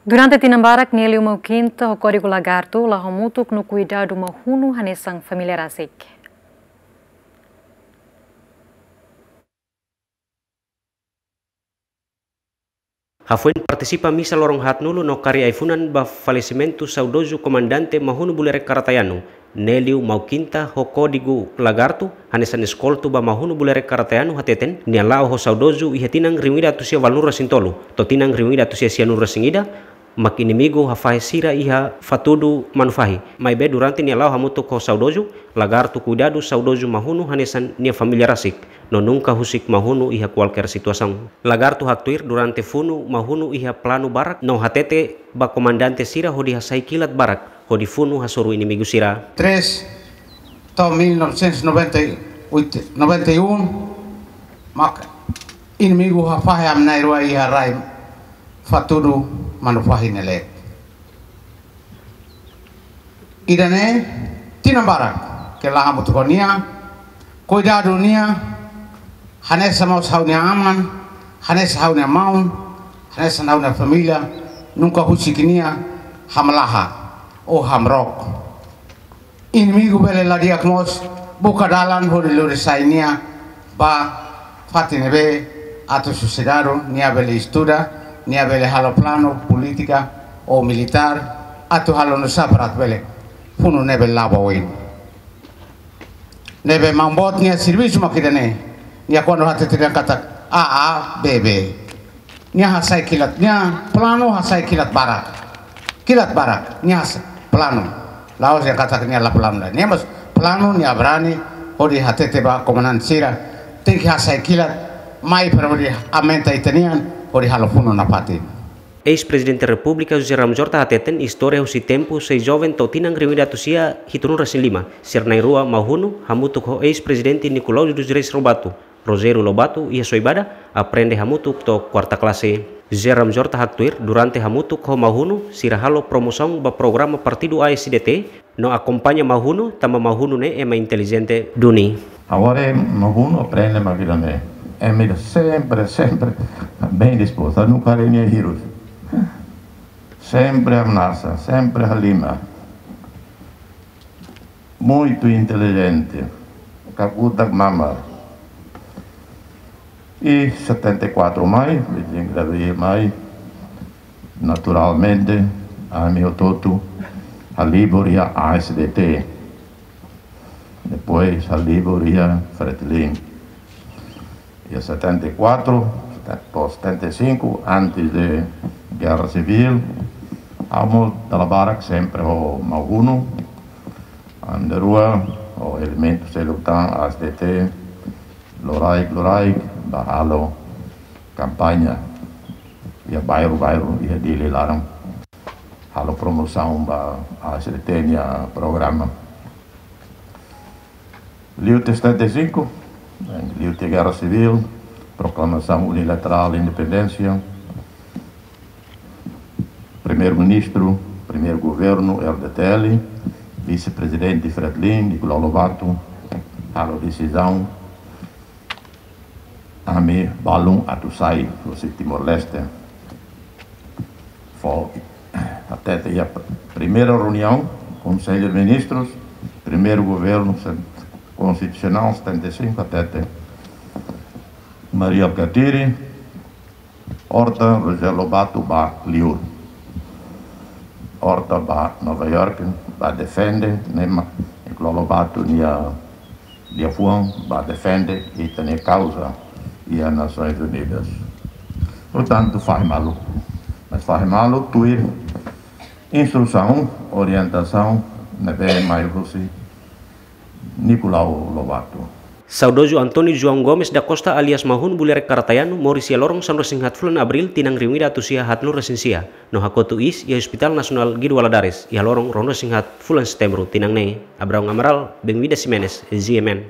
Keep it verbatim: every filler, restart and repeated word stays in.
Durante tinan barak, nia liu Mau Kinta ho kódigu Lagartu la'o hamutuk no kuidadu Mau Hunu hanesan família rasik. Hafoin partisipa misa loron haatnulu no karik ai-funan ba falesimentu saudozu komandante Mau Hunu Bulerek Karatayanu, nia liu Mau Kinta ho kódigu Lagartu hanesan eskoltu ba Mau Hunu Bulerek Karatayanu hateten, nia la'o ho saudozu iha tinan rihun ida atus sia valunulu resin tolu to'o tinan rihun ida atus sia sianulu resin ida, mak inimigu hafahe sira iha Fatudu Manufahi. Maibé durante nia la'o hamutuk ho saudozu, Lagartu kuidadu saudozu Mau Hunu hanesan nia família rasik, no nunka husik Mau Hunu iha kualkér situasaun. Lagartu haktuir durante funu Mau Hunu iha planu barak no hatete ba komandante sira hodi hasai kilat barak hodi funu hasoru inimigu sira. Três, to'o mil novecentos e noventa e oito, noventa e um, mak inimigu hafahe ami na'in-rua iha rai Fatudu Manufahi ne'e leet. Ida-ne'e tinan barak ke la'o hamutuk ho nia, kuidadu nia, hanesan mós ha'u-nia aman, hanesan ha'u-nia maun, hanesan ha'u-nia família, nunka husik nia hamlaha ou hamrook. Inimigu bele la di'ak mós buka dalan hodi lori sai nia ba fatin ne'ebé atu sosiedade nia bele estuda, nia bele halo planu polítika ou militár, atu halo nusá para atu bele funu ne'ebé la'o ba oin. Ne'ebé maun boot nia servisu mak ida-ne'e, nia kuandu hatete dehan katak A, A, B, B. Nia hasai kilat, nia planu hasai kilat barak. Kilat barak, nia hasai planu. La'ós dehan katak nia la planu lae. Nia mós planu, nia brani hodi hatete ba komandante sira, tenke hasai kilat mai para hodi aumenta ita-nian hodi halo funu nafatin. Eis-Prezidente Repúblika José Ramos Horta hateten istória husi tempu sei joven to'o tinan rihun ida atus sia hitunulu resin lima, sira na'in-rua Mau Hunu hamutuk ho eis-prezidente Nicolau dos Reis Lobato, Rogério Lobato, iha Soibada, aprende hamutuk to'o kuarta klase. José Ramos Horta haktuir, durante hamutuk ho Mau Hunu, sira halo promosaun ba programa partidu A S D T, no akompaña Mau Hunu, tanba Mau Hunu ne'e ema intelijente duni. Agora Mau Hunu aprende mak ida-ne'e. Ema ida sempre, sempre bem disposto, nunka haree nia hirus. Sempre ameasa, sempre halimar. Muito inteligente, kakutak mamar. E setenta e quatro mai, vinte e cinco de abril mai, naturalmente, ami hotu-hotu halibur iha A S D T. Depois halibur iha Fretilin. Iha setenta e quatro, to'o setenta e cinco, antes de guerra civil, ami dala barak sempre ho Mau Hunu, ami na'in-rua, ho elementu seluk tan, A S D T, loraik, loraik, ba halo kampaña iha bairru, bairru, iha Dili laran. Halo promosaun ba A S D T nia programa. Liu tinan setenta e cinco, liu tinan guerra civil, proclamação unilateral de independência, primeiro-ministro, primeiro governo, R D T L, vice-prezidente Fretilin, Nicolau Lobato, halo desizaun, ami balun atu sai husi Timor-Leste. Fó hatete iha primeira reunião, Conselho de Ministros, primeiro governo sen-, constitucional, setenta e cinco, hatete Mari Alkatiri, Horta, Rogério Lobato, ba liur. Horta ba Nova York, ba defende, ne'e mak Nicolau Lobato nia liafuan ba defende ita-nia kauza iha Nações Unidas. Portantu, fahe malu. Mas fahe malu tuir instrusaun, orientasaun ne'ebé mai husi Nicolau Lobato. Saudozu António João Gomes da Costa alias Mau Hunu Bulerek Karatayanu moris iha loron sanulu-resin-haat fulan Abríl tinan rihun ida atus sia haatnulu-resin-sia, no hakotu iis iha Hospital Nasionál Guido Valadares iha loron ruanulu-resin-haat fulan Setembru tinan ne'e. Abraão Amaral, Benvida Ximenes, G M N.